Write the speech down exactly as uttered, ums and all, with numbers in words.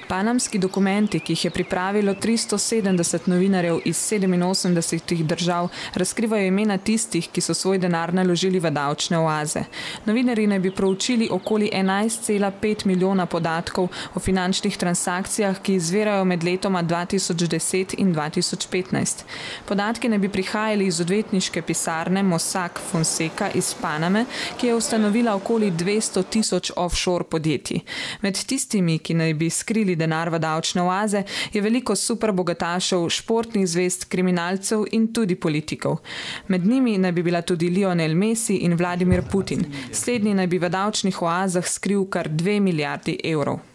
Panamski dokumenti, ki jih je pripravilo tristo sedemdeset novinarjev iz sedeminosemdesetih držav, razkrivajo imena tistih, ki so svoj denar naložili v davčne oaze. Novinarji naj bi proučili okoli enajst cela pet milijona podatkov o finančnih transakcijah, ki izvirajo med letoma dva tisoč deset in dva tisoč petnajst. Podatki naj bi prihajali iz odvetniške pisarne Mossack Fonseca iz Paname, ki je ustanovila okoli dvesto tisoč offshore podjetij. Med tistimi, ki naj bi skrili denar v davčne oaze, je veliko superbogatašev, športnih zvezd, kriminalcev in tudi politikov. Med njimi naj bi bila tudi Lionel Messi in Vladimir Putin. Slednji naj bi v davčnih oazah skril kar dve milijardi evrov.